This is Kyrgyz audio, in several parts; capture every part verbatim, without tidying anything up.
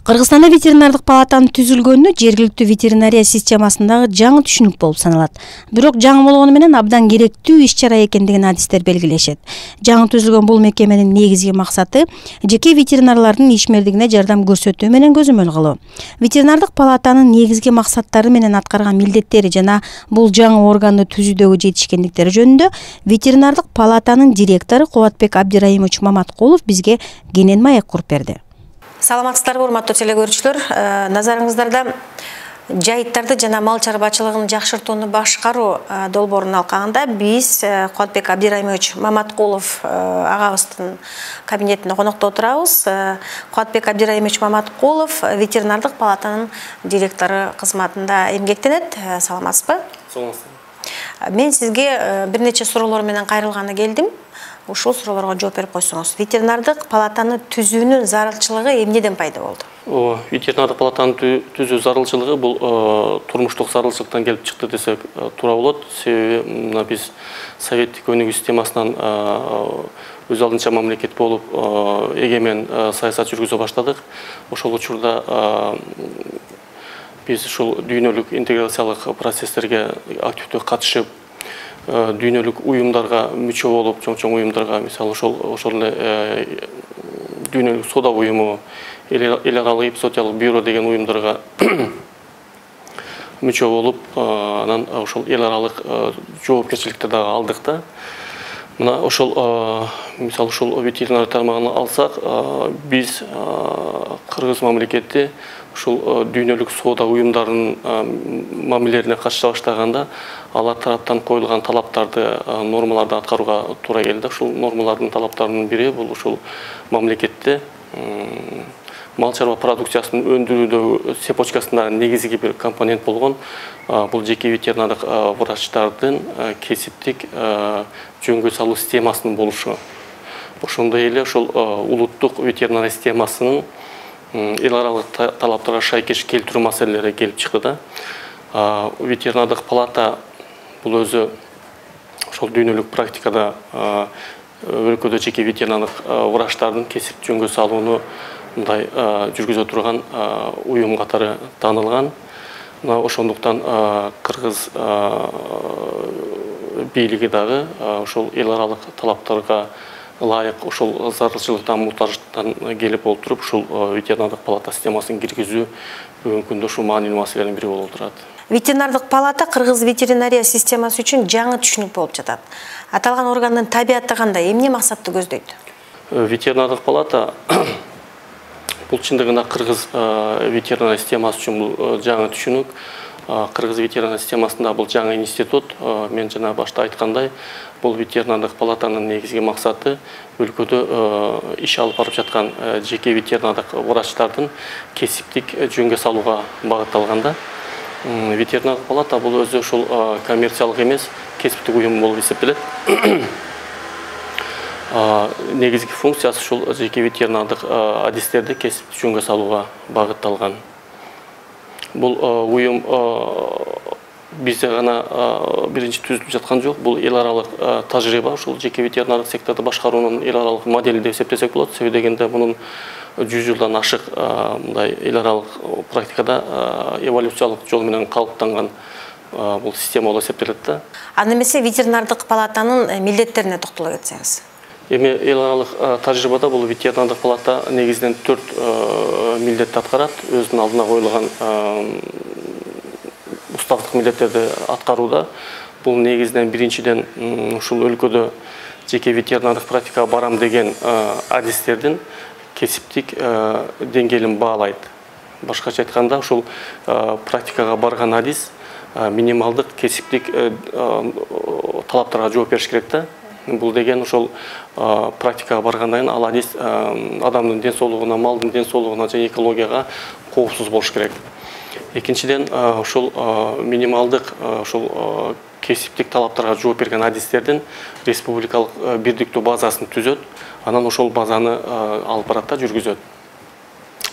Кыргызстанда ветеринардык палатанын түзүлгөнү жергиликтүү ветеринария системасындагы жаңы түшүнүк болуп саналат. Бирок жаңы болгону менен абдан керектүү иш-чара экендигин адистер белгилешет. Жаңы түзүлгөн бул мекеменин негизги максаты жеке ветеринарлардын ишмердигине жардам көрсөтүү менен көзөмөл кылуу. Ветеринардык палатанын негизги максаттары менен аткарган милдеттери жана бул жаңы органды түзүүдөгү жетишкендиктери жөнүндө ветеринардык палатанын директору Кубатбек Абдирайымович Маматкулов бизге кенен маек куруп берди. Саламатсыздарбы, урматтуу телекөрүүчүлөр. Назарыңыздарда жайыттарды жана мал чарбачылыгын жакшыртууну башкаруу долбоорун алкагында биз Кубатбек Абдирайымович Маматкулов агабыздын кабинетинде конокто отурабыз. Кубатбек Абдирайымович Маматкулов ветеринардык палатанын директору кызматында эмгектенет. Саламатсызбы? Саламатсызбы. Мен сизге бир нече суроолор менен кайрылганы келдим. Ушул суроолорго жооп берип койсоңуз. Ветеринардык палатаны түзүүнүн зарылчылыгы эмнеден пайда болду? О, ветеринардык палатаны түзүү зарылчылыгы бул турмуштук зарылчылыктан келип чыкты десек туура болот. Себеби мына биз советтик өнүгүү системасынан өз алдынча мамлекет болуп, эгемен саясат жүргүзө баштадык. Ошол учурда биз ушул дүйнөлүк интеграциялык процесстерге активдүү катышып, дүйнөлүк уюмдарга мүчө болуп, чоң-чоң уюмдарга, мисалы ошол ошол эле дүйнөлүк соода уюму, эл аралык эпизоотиялык бюро деген уюмдарга мүчө болуп, анан ошол эл аралык жоопкерчиликти дагы алдык да. Мына ошол мисалы ушул ветеринар тармагын алсак, биз Кыргыз мамлекети ушул дүйнөлүк соода уюмдарынын мамилелерине катыша баштаганда алар тараптан коюлган талаптарды, нормаларды аткарууга туура келди. Ушул нормалардын талаптарынын бири бул ушул мамлекетте мал чарба продукциясын өндүрүүдөгү цепочкасындагы негизги бир компонент болгон бул жеке ветеринардык врачтардын кесиптик жөнгө салуу системасынын болушу. Ошондой эле ушул улуттук ветеринария системасынын эл аралык талаптарга шайкеш келтирүү маселелери келип чыкты да. Ветеринардык палата бул өзү ошол дүйнөлүк практикада өлкөдө жеке ветеринардык врачтардын кесип жөнгө салууну мындай жүргүзө турган уюм катары таанылган. Мына ошондуктан Кыргыз бийлиги дагы ошол эл аралык талаптарга ылайык ошол зарылчылыктан, муктаждыктан келип олтуруп, ушул ветеринардык палата системасын киргизүү бүгүнкү күндө ушул маанилүү маселенин бири болуп турат. Ветеринардык палата Кыргыз ветеринария системасы үчүн жаңы түшүнүк болуп жатат. Аталган органдын табияты кандай, эмне максатты көздөйт? Ветеринардык палата бул чындыгында Кыргыз ветеринария системасы үчүн бул жаңы түшүнүк. Кыргыз ветеринария системасында бул жаңы институт. Мен жана башта айткандай, бул ветеринардык палатанын негизги максаты өлкөдө иш алып барып жаткан жеке ветеринардык врачтардын кесиптик жөнгө салууга багытталган да. Ветеринардык палата бул өзү ушул коммерциялык эмес, кесиптик уюм болуп эсептелет. Негизги функциясы ушул жеке ветеринардык адистерди кесиптик жөнгө салууга багытталган. Бул уюм бизде гана биринчи түзүлүп жаткан жок. Бул эл аралык тажрыйба, ушул жеке ветеринардык секторду башкаруунун эл аралык модели деп эсептесек болот. Себеби дегенде мунун жүз жылдан ашык мындай эл аралык практикада эволюциялык жол менен калыптанган бул система болуп эсептелет да. Анда эмесе ветеринардык палатанын милдеттерине токтоло кетсеңиз. Эми эл аралык тажрыйбада бул ветеринардык палата негизинен төрт милдетти аткарат. Өзүнүн алдына коюлган уставдык милдеттерди аткарууда. Бул негизинен биринчиден ушул өлкөдө жеке ветеринардык практикага барам деген адистердин кесиптик деңгээлин баалайт. Башкача айтканда, ушул практикага барган адис минималдык кесиптик талаптарга жооп бериш керек да. Бул деген ошол практикага баргандан кийин ал адис адамдын ден соолугуна, малдын ден соолугуна жана экологияга коопсуз болуш керек. Экинчиден, ошол минималдык ошол кесиптик талаптарга жооп берген адистердин республикалык бирдиктүү базасын түзөт, анан ошол базаны алып барат да жүргүзөт.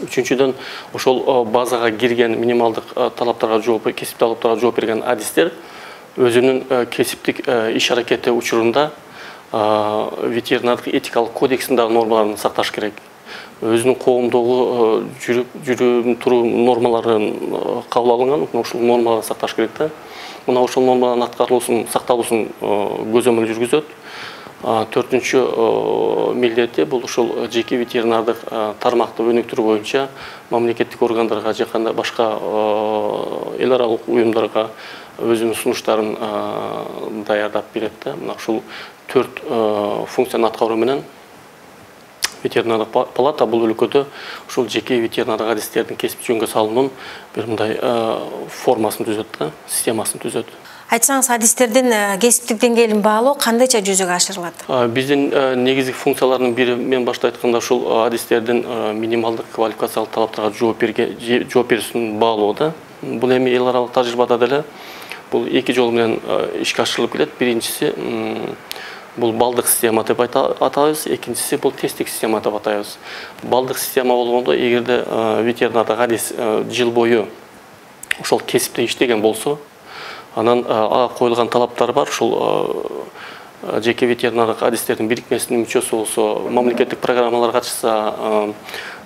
Үчүнчүдөн, ошол базага кирген минималдык талаптарга жооп, кесиптик талаптарга жооп берген адистер өзүнүн кесиптик иш аракети учурунда ветеринардык этикалык кодексиндагы нормаларын сакташ керек. өзүнүн коомдогу жүрүп жүрүп туруу нормаларын кабыл алынган, ошол нормаларды сакташ керек да. Мына ошол нормалардын аткарылуусун, сакталуусун көзөмөл жүргүзөт. Төртүнчү милдети бул ушул жеке ветеринардык тармакты өнүктүрүү боюнча мамлекеттик органдарга же кандай башка эл аралык уюмдарга өзүнүн сунуштарын даярдап берет да. Мына ушул төрт функцияны аткаруу менен ветеринардык палата бул өлкөдө ушул жеке ветеринардык адистердин кесип жөнгө салуунун бир мындай формасын түзөт да, системасын түзөт. Айтсаңыз, адистердин кесиптик деңгээлин баалоо кандайча жүзөгө ашырылат? Биздин негизги функциялардын бири, мен башта айтканда, ушул адистердин минималдык квалификациялык талаптарга жооп берүүсүн баалоо да. Бул эми эл аралык тажрыйбада деле бул эки жол менен ишке ашырылып келет. Биринчиси бул балдык система деп атабыз, экинчиси бул тесттик система деп атайбыз. Балдык система болгондо, эгерде ветеринардык адис жыл бою ошол кесипте иштеген болсо, анан коюлган талаптар бар. Ушул жеке ветеринардык адистердин бирикмесинин мүчөсү болсо, мамлекеттик программаларга катышса,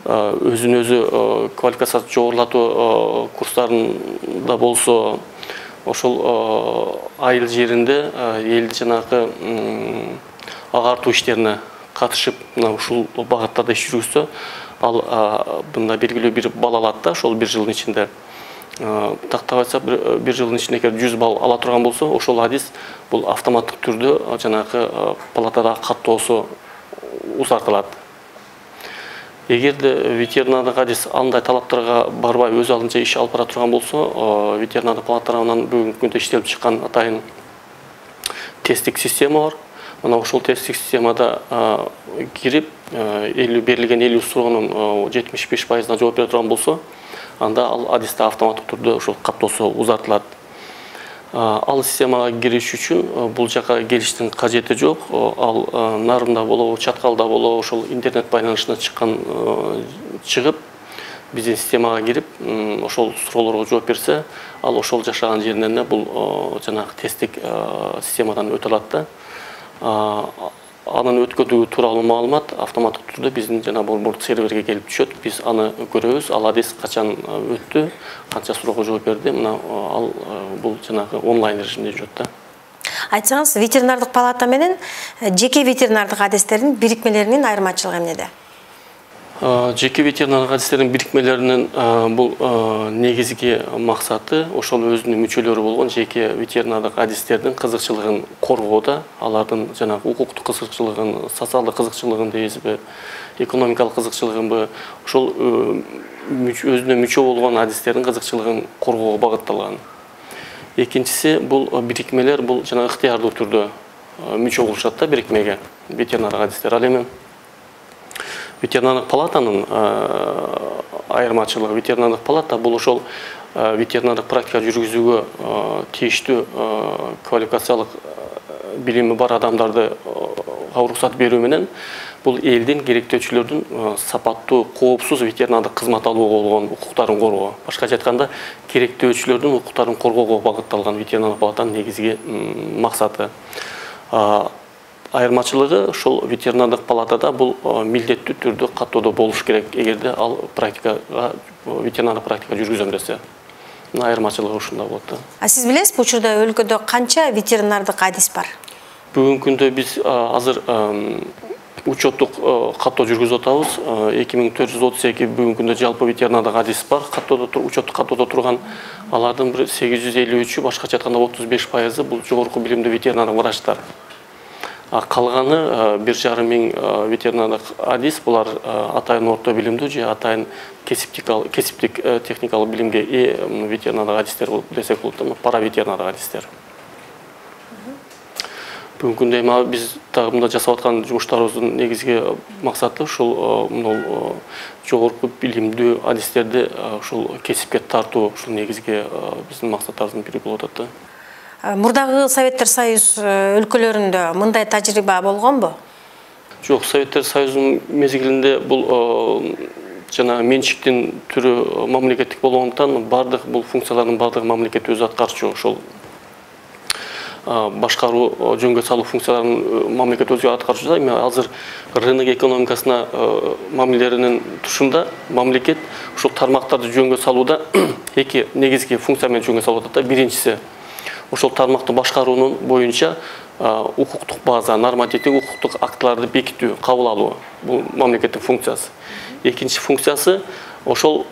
өзүн өзү квалификациясын жогорулатуу курстарында болсо, ошол айыл жеринде элди жанагы агартуу иштерине катышып, мына ушул багыттарда иш жүргүзсө, ал мында белгилүү бир балл алат да, ошол бир жылдын ичинде. Тактап айтсак, бир жылдын ичинде эгер жүз балл ала турган болсо, ошол адис бул автоматтык түрдө жанагы палатадагы каттоосу узартылат. Эгерде ветеринардык адис андай талаптарга барбай өз алдынча иш алып бара турган болсо, ветеринардык палата тарабынан бүгүнкү күндө иштелип чыккан атайын тесттик система бар. Мына ошол тесттик системада кирип, берилген элүү суроонун жетимиш беш пайызына жооп бере турган болсо, анда ал адисте автоматтык түрдө ошол каттоосу узартылат. Ал системага кириш үчүн бул жака келиштин кажети жок. Ал нарында болобу, чаткалда болобу, ошол интернет байланышына чыккан чыгып, биздин системага кирип, ошол суроолорго жооп берсе, ал ошол жашаган жеринен бул жанагы тесттик системадан өтө алат да. Анын өткөдүгү тууралуу маалымат автоматтык түрдө биздин жана борбордук серверге келип түшөт. Биз аны көрөбүз. Ал адис качан өттү, канча суроого жооп берди. Мына ал бул жанагы онлайн режимде жүрөт да. Айтсаңыз, ветеринардык палата менен жеке ветеринардык адистердин бирикмелеринин айырмачылыгы эмнеде? Жеке ветеринардык адистердин бирикмелеринин бул негизги максаты ошол өзүнүн мүчөлөрү болгон жеке ветеринардык адистердин кызыкчылыгын коргоодо, алардын жанагы укуктук кызыкчылыгын, социалдык кызыкчылыгын дейбизби, экономикалык кызыкчылыгынбы, ошол өзүнө мүчө болгон адистердин кызыкчылыгын коргоого багытталган. Экинчиси, бул бирикмелер бул жана ыктыярдуу түрдө мүчө болушат да бирикмеге ветеринардык адистер. Ал эми ветеринардык палатанын айырмачылыгы, ветеринардык палата бул ошол ветеринардык практика жүргүзүүгө тийиштүү квалификациялык билими бар адамдарды уруксат берүү менен бул элдин керектөөчүлөрдүн сапаттуу, коопсуз ветеринардык кызмат алууга болгон укуктарын коргоо. Башкача айтканда, керектөөчүлөрдүн укуктарын коргоого багытталган ветеринардык палатанын негизги максаты. Айырмачылыгы ошол ветеринардык палатада бул милдеттүү түрдө каттоодо болуш керек, эгерде ал практикага ветеринардык практика жүргүзөм десе. Айырмачылыгы ушунда болот да. А сиз билесизби, учурда өлкөдө канча ветеринардык адис бар? Бүгүнкү күндө биз азыр учеттук каттоо жүргүзүп атабыз. эки миң төрт жүз отуз эки бүгүнкү күндө жалпы ветеринардык адис бар, каттоодо учеттук каттоодо турган. Алардын бир сегиз жүз элүү үчү, башкача айтканда отуз беш пайызы бул жогорку билимдүү ветеринардык врачтар. Калганы бир жарым миң ветеринардык адис, булар атайын орто билимдүү же атайын кесиптик техникалык билимге ээ ветеринардык адистер десек болот, пара ветеринардык адистер. Бүгүнкү күндө эми биз дагы мында жасап аткан жумуштарыбыздын негизги максаты ушул жогорку билимдүү адистерди ушул кесипке тартуу, ушул негизги биздин максаттарыбыздын бири болуп атат да. Мурдагы Советтер Союз өлкөлөрүндө мындай тажрыйба болгонбу? Жок, Советтер Союзунун мезгилинде бул жана менчиктин түрү мамлекеттик болгондуктан бардык бул функциялардын бардыгы мамлекет өзү аткарчу. Ошол башкаруу, жөнгө салуу функцияларын мамлекет өзү аткарып жатат. Эми азыр рынок экономикасына мамилелеринин тушунда мамлекет ушул тармактарды жөнгө салууда эки негизги функция менен жөнгө салып атат. Биринчиси ошол тармакты башкаруунун боюнча укуктук база, нормативдик укуктук актыларды бекитүү, кабыл алуу. Бул мамлекеттин функциясы. Экинчи функциясы ошол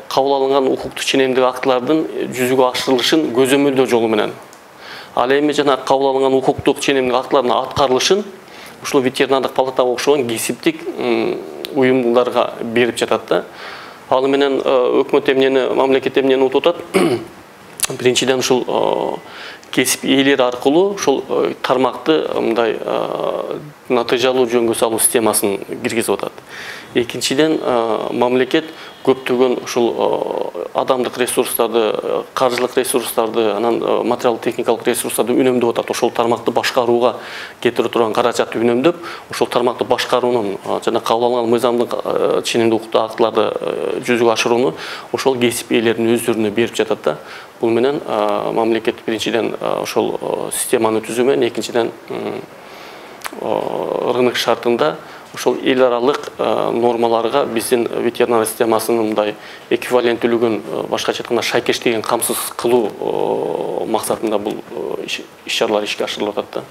кабыл алынган укуктук ченемдик актылардын жүзүгө ашырылышын көзөмөлдөө жолу менен. Ал эми жана кабыл алынган укуктук ченемдик актылардын аткарылышын ушул ветеринардык палатага окшогон кесиптик уюмдарга берип жатат да. Ал менен өкмөт эмнени, мамлекет эмнени утуп атат? Биринчиден ушул кесип ээлери аркылуу ушул тармакты мындай натыйжалуу жөнгө салуу системасын киргизип атат. Экинчиден мамлекет көптөгөн ушул адамдык ресурстарды, каржылык ресурстарды, анан материалдык техникалык ресурстарды үнөмдөп атат. Ошол тармакты башкарууга кетире турган каражатты үнөмдөп, ошол тармакты башкаруунун жана кабыл алынган мыйзамдык ченемдик укуктук актыларды жүзүгө ашырууну ошол кесип ээлеринин өздөрүнө берип жатат да. Бул менен мамлекет биринчиден ошол системаны түзүү менен, экинчиден рынок шартында ошол эл аралык нормаларга биздин ветеринария системасынын мындай эквиваленттүүлүгүн, башкача айтканда шайкештигин камсыз кылуу максатында бул иш-чаралар ишке ашырылып атат да.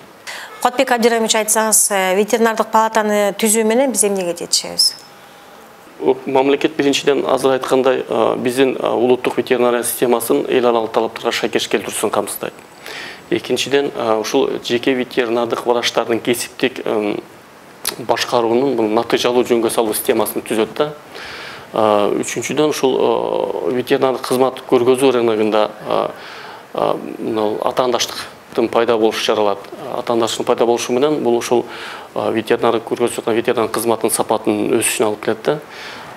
Кодбек Абдыраимович, айтсаңыз, ветеринардык палатаны түзүү менен биз эмнеге жетишебиз? Мамлекет биринчиден азыр айткандай биздин улуттук ветеринария системасын эл аралык талаптарга шайкеш келтирүүсүн камсыздайт. Экинчиден ушул жеке ветеринардык врачтардын кесиптик башкаруунун бул натыйжалуу жөнгө салуу системасын түзөт да. Үчүнчүдөн ушул ветеринардык кызмат көргөзүү рыногунда атаандаштыктын пайда болушу чаралат. Атаандаштыктын пайда болушу менен бул ушул ветеринардык көргөзүп аткан ветеринардык кызматтын сапатынын өсүшүнө алып келет да.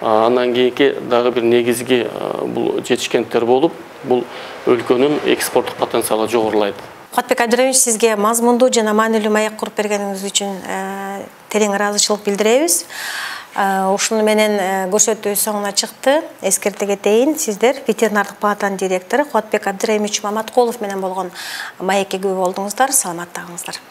Андан кийинки дагы бир негизги бул жетишкенттер болуп, бул өлкөнүн экспорттук потенциалы жогорулайт. Кодбек Абдыраимович, сизге мазмундуу жана маанилүү маек куруп бергениңиз үчүн терең ыраазычылык билдиребиз. Ушуну менен көрсөтүү соңуна чыкты. Эскерте кетейин, сиздер ветеринардык палатанын директору Кодбек Абдыраимович Маматкулов менен болгон маекке күбө болдуңуздар. Саламатта калыңыздар.